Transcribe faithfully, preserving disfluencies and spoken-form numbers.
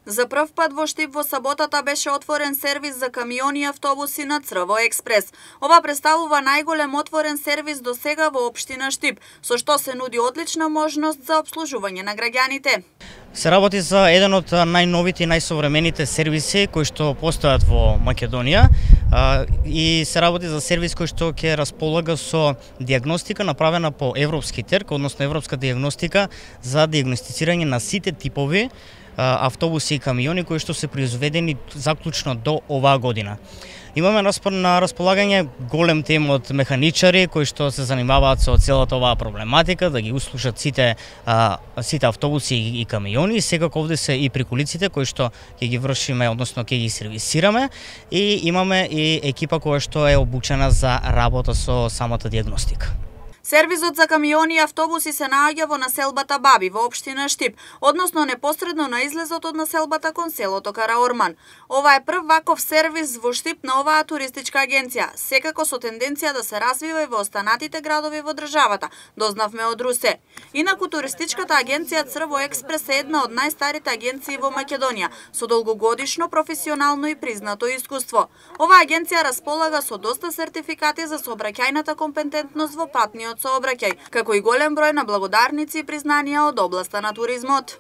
За прв пат во Штип во саботата беше отворен сервис за камиони и автобуси на Црво експрес. Ова представува најголем отворен сервис до сега во општина Штип, со што се нуди одлична можност за обслужување на граѓаните. Се работи за еден од најновите и најсовремените сервиси кои што постојат во Македонија и се работи за сервис кој што ќе располага со дијагностика направена по европски терк, односно европска дијагностика за дијагностицирање на сите типови автобуси и камиони кои што се произведени заклучно до оваа година. Имаме на располагање голем тим од механичари кои што се занимаваат со целата оваа проблематика, да ги услушат сите а, сите автобуси и камиони. Секако овде се и приколиците кои што ќе ги вршиме, односно ќе ги сервисираме, и имаме и екипа која што е обучена за работа со самата дијагностика. Сервизот за камиони и автобуси се наоѓа во населбата Баби во општина Штип, односно непосредно на излезот од населбата кон селото Караорман. Ова е прв ваков сервис во Штип на оваа туристичка агенција, секако со тенденција да се развива и во останатите градови во државата, дознавме од Русе. Инаку туристичката агенција Црво експрес е една од најстарите агенции во Македонија, со долгогодишно професионално и признато искуство. Оваа агенција располага со доста сертификати за сообраќајната компетентност во патниот сообраќај, како и голем број на благодарници и признанија од областа на туризмот.